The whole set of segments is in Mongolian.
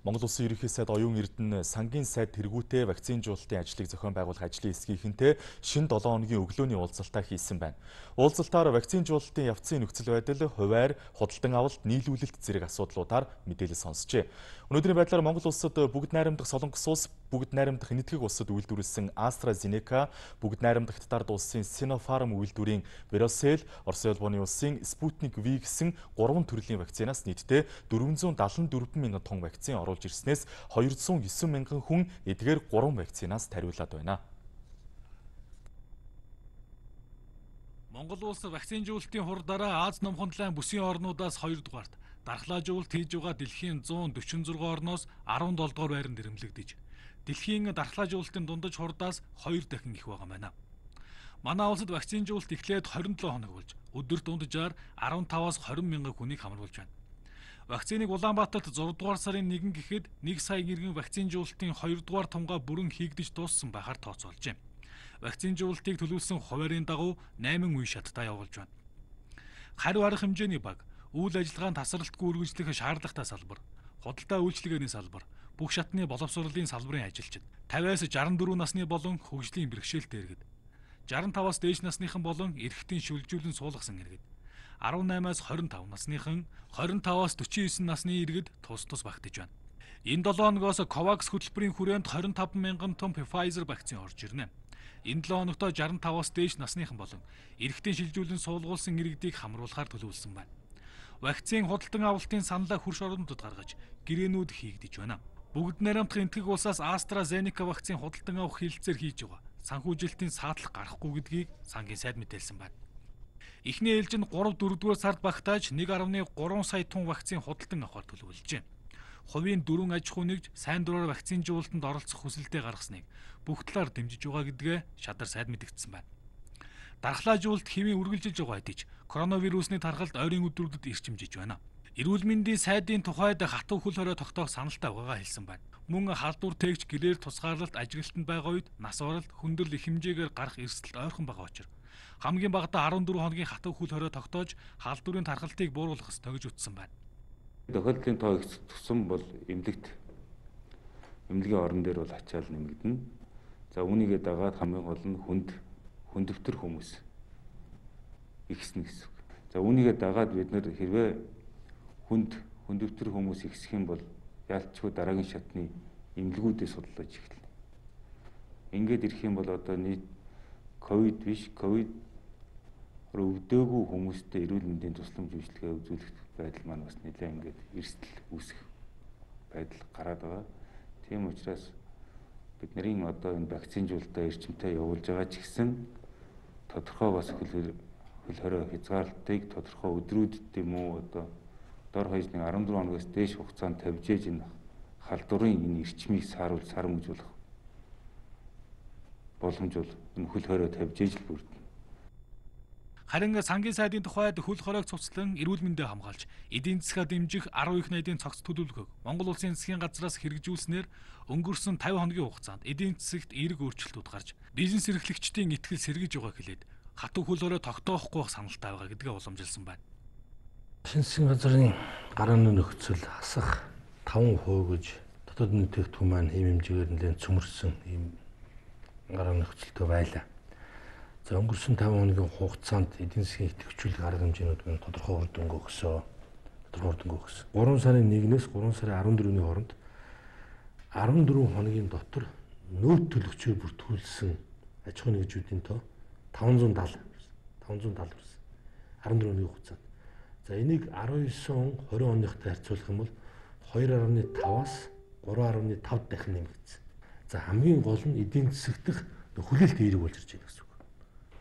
Монгол Улсын ерөнхий сайд Оюун Эрдэнэ сангийн сайд тэргүүтээ вакцинжуулалтын ажлыг зохион байгуулах ажлын эсгийнхэнтэй шинэ 7 хоногийн өглөөний уулзалтаа хийсэн байна. Уулзалтаар вакцинжуулалтын явцын нөхцөл байдал, хувиар, худалдан авалт, нийлүүлэлт зэрэг асуудлуудаар мэдээлэл сонсжээ. Өнөөдрийн байдлаар Монгол улсад бүгд найрамдах Солонгос улс, бүгд найрамдах Энэтхэг улсад үйлдвэрлэсэн AstraZeneca, бүгд найрамдах Хятад улсын Sinopharm үйлдвэрийн Verocell, Орос улбаны улсын Sputnik V гэсэн 3 төрлийн вакцинаас нийтдээ 474 мянган тонн вакцин оруулж ирснээс 209 мянган хүн эдгээр 3 вакцинаас тариулаад байна. Монгол улс вакцинжуулалтын хурдаараа Аз номхон бүсийн орнуудаас 2 дугаарт, дархлаажуулалт хийж байгаа дэлхийн 146 орноос 17 дугаар байранд ирэмлэгдэж, дэлхийн дархлаажуулалтын дундаж хурдаас 2 дахин их байгаа байна. Манай улсад вакцинжуулалт эхлээд 27 хоног болж, өдөрт дунджаар 15-аас 20 мянган хүнийг хамруулж байна. Вакциныг Улаанбаатарт 6 дугаар сарын 1 гэхэд 1 сая иргэн вакцинжуулалтын 2 дугаар тунгаа бүрэн хийгдэж дууссан байхаар тооцоолжээ. Вакцинжуулалтыг төлөвлөсөн хуваарийн дагуу 8 үе шаттай явуулж байна. Хариу арга хэмжээний баг, үйл ажиллагаанд тасралтгүй үргэлжлэх шаардлагатай салбар, худалдаа үйлчилгээний салбар, бүх шатны боловсролын салбарын ажилчид, 50-аас 64 насны болон хөгжлийн бэрхшээлтэй иргэд, 65-аас дээш насныхан болон эрэгтийн шүлжүүлэн суулгасан иргэд, 18-аас 25 насныхан, 25-аас 49 насны иргэд тус багтаж байна. Энэ 7 хоногоос COVAX хөтөлбөрийн хүрээнд 25 мянган тонн Pfizer вакцин орж ирнэ. Энэ 7 хоногт 65-аас дээш насныхан болон эрэгтийн шилжүүлэн суулгуулсан иргэдийг хамруулахаар төлөвлөсөн байна. Вакцин худалдан авалтын саналаа хөрш орнуудад гаргаж, гэрээнүүд хийгдэж байна. Бүгд найрамдах Энэтхэг улсаас AstraZeneca вакцин худалдан авах хилцээр хийж байгаа санхүүжилтийн саадлах гарахгүй гэдгийг сангийн сайд мэдээлсэн байна. Эхний ээлжинд 3-4 дугаар сард багтааж 1.3 сая тонн вакцин худалдан авахар төлөвлөжээ. Хувийн 4 аж ахуй нэгж сайн дураар вакцинжуулалтанд оролцох хүсэлтэд гаргасныг бүх талаар дэмжиж байгаа гэдгээ шадар сайд мэдгдсэн байна. Дархлаажуулалт хэвийн үргэлжилж байгаа хэдий ч коронавирусны тархалт ойрын өдрүүдэд ирчимжиж байна. Эрүүл мэндийн сайдын тухайд хатуу хөл хорой тогтоох саналтай байгаагаа хэлсэн байна. Мөн халдвар тээгч гэрээр тусгаарлалт ажиглалтанд байгаа үед нас баралт хүндрэл их хэмжээгээр гарах эрсдэлт ойрхон байгаа учраас хамгийн багадаа 14 хоногийн хатуу хөл хорой тогтоож халдварын тархалтыг бууруулах ёстой гэж ütсэн байна. Тохиолдлын тоо их тусам бол эмнэлгийн орон дээр бол ачаал нэмэгдэнэ. За үүнийгээ дагаад хамгийн гол нь хүндөвтөр хүмүүс ихснэ гэсэн үг. За үүнийгээ дагаад бид нэр хэрвээ хүндөвтөр хүмүүс ихсэх юм бол яалтчгүй дараагийн шатны эмнэлгүүдээ судлаж эхэлнэ. Ингээд ирэх юм бол одоо нийт ковид биш, ковид өвдөөгүй хүмүүстээ эрүүл мэндийн тусламж үйлчилгээ үзүүлэх байдал маань бас нэлээд ингээд эрсдэл үүсэх байдал гараад байгаа. Тийм учраас бидний одоо энэ вакцинжуулалтаа эрчимтэй явуулж байгаа ч гэсэн тодорхой бас хөл хорой хязгаарлалтыг тодорхой өдрүүдэд юм уу одоо дор хаяж 14 хоногоос дээш хугацаанд тавьж ээж энэ халдварын энэ эрчмийг сарамжуулах боломж бол энэ хөл хорой тавьж ээж л бүрдэнэ. Харин сангийн сайдын тухайд хөл хоройг цуцлан эрүүл мэндээ хамгаалж, эдийн засгаа дэмжих 10 их найдын цогц төлөвлөгөөг Монгол улсын засгийн газраас хэрэгжүүлснээр өнгөрсөн 50 хоногийн хугацаанд эдийн засагт эерэг өөрчлөлтүүд гарч, бизнес эрхлэгчдийн итгэл сэргэж байгаа хэлээд хатуу хөл хорой тогтоохгүй байх саналтай байгаа гэдгээ уламжилсан байна. Засгийн газрын гарааны нөхцөл хасах 5% гэж дотоод бүтээгдэхүүн маань ийм хэмжээгээр нэлээд цөмөрсөн ийм гарааны нөхцөлтэй байлаа. За өнгөрсөн 5 хоногийн хугацаанд эдийн засгийн идэвхжүүлэх арга хэмжээнүүд нь тодорхой үр дүнг өгсөн. 3 сарын 1-ээс 3 сарын 14-ний хооронд 14 хоногийн дотор нөөц төлөгчөөр бүртгүүлсэн аж ахуй нэгжүүдийн тоо 570 ирсэн. 14 хоногийн хугацаанд. За энийг 19 он 20 оныхтой харьцуулах юм бол 2.5-аас 3.5 дахин нэмэгдсэн. За хамгийн гол нь эдийн засагт хүлээлт эерэг болж ирж байна гэсэн үг.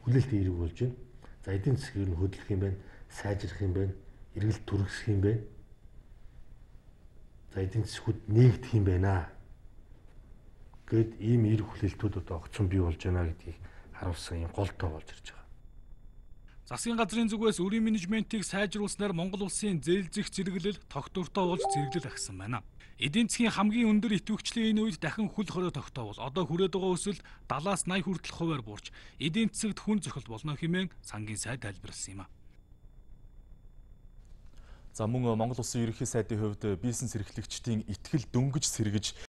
Хүлээлт эерэг болж байна. За эдийн засгийг нь хөдөлгөх юм байна, сайжрах юм байна, эргэлт түргэсэх юм байна. За эдийн засгууд нээгдэх юм байна. Гэт ийм эерэг хүлээлтүүд одоо огцон бий болж байна гэдгийг харуулсан юм гол тоо болж ирж байгаа. Засгийн газрын зүгээс өрийн менежментийг сайжруулснаар Монгол улсын зээлзэх зэрэглэл тогтвортой болж зэрэглэл агсан байна. Эдийн засгийн хамгийн өндөр идэвхжлийн энэ үед дахин хөл хорой тогтоовол одоо хүрээд байгаа өсөлт 70-аас 80 хүртэл хувиар буурч эдийн засагт хүн зохил болно хэмээн сангийн сайд тайлбарласан юм а. За мөн Монгол Улсын ерөнхий сайдын хувьд бизнес эрхлэгчдийн итгэл дөнгөж сэргэж